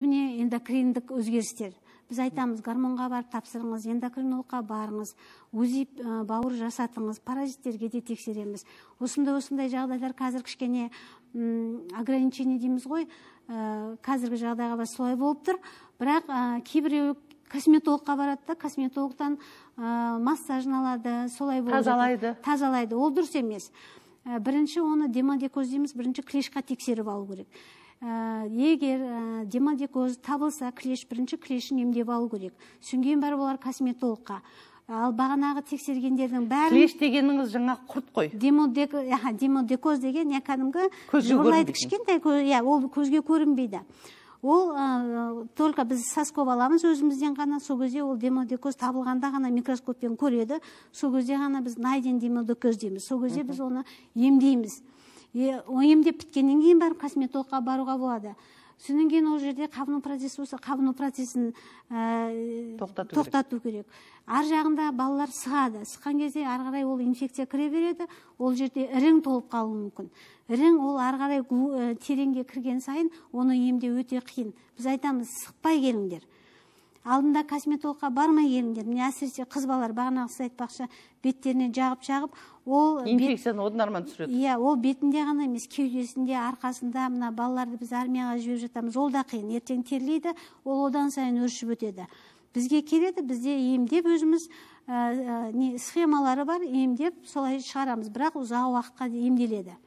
Міне эндокриндік өзгерістер. Біз айтамыз, гормонға барып тапсырыңыз, эндокринологқа барыңыз, УЗИ бауыр жасатыңыз, паразиттерге де тексереміз. Осындай жағдайлар қазір кішкене ограничение дейміз ғой, қазіргі жағдайға бас солай болып тұр. Бірақ кейбіреу косметологқа барады да, косметологтан массажын алады, солай болып тазалайды. Ол дұрыс емес. Бірінші оны демодекоз дейміз, бірінші клешқа тексеріп алу керек. Егер демодекоз табылса, бірінші клешін емдеп алу керек. Сүнген бар олар косметологқа. Ал бағанағы тексергендердің бәрін... Клеш дегеніңіз жаңа құрт қой. Демодекоз деген кәдімгі жыбырлайды кішкентай, ол көзге көрінбейді. Ол только біз соскоп аламыз өзімізден ғана, сол кезде ол демодекоз табылғанда ғана микроскоппен көреді, сол кезде ғана біз найден демодекоз дейміз. Сол кезде біз оны емдейміз. Емдеп біткеннен кейін барып косметологқа баруға болады. Содан кейін ол жерде қабыну процесі болса, қабыну процесін тоқтату керек. Ар жағында балалар сығады. Сыққан кезде ары қарай ол инфекция кіре береді, ол жерде ірің толып қалуы мүмкін. Ірің ол ары қарай тереңге кірген сайын оны емдеу өте қиын. Біз айтамыз, сықпай келіңдер. Алдында косметологқа бармай келіңдер. Міне әсіресе қыз балалар бағанағы сіз айтпақшы беттеріне жағып, ол инфекцияны одан арман түсіреді. Иә, ол бетінде ғана емес, кеудесінде, арқасында, мына балаларды біз армияға жіберіп жатамыз. Ол да қиын. Ертең терлейді, ол одан сайын өршіп өтеді. Бізге келеді, бізде емдеп өзіміз схемалары бар, емдеп солай шығарамыз. Бірақ ұзақ уақытқа емделеді.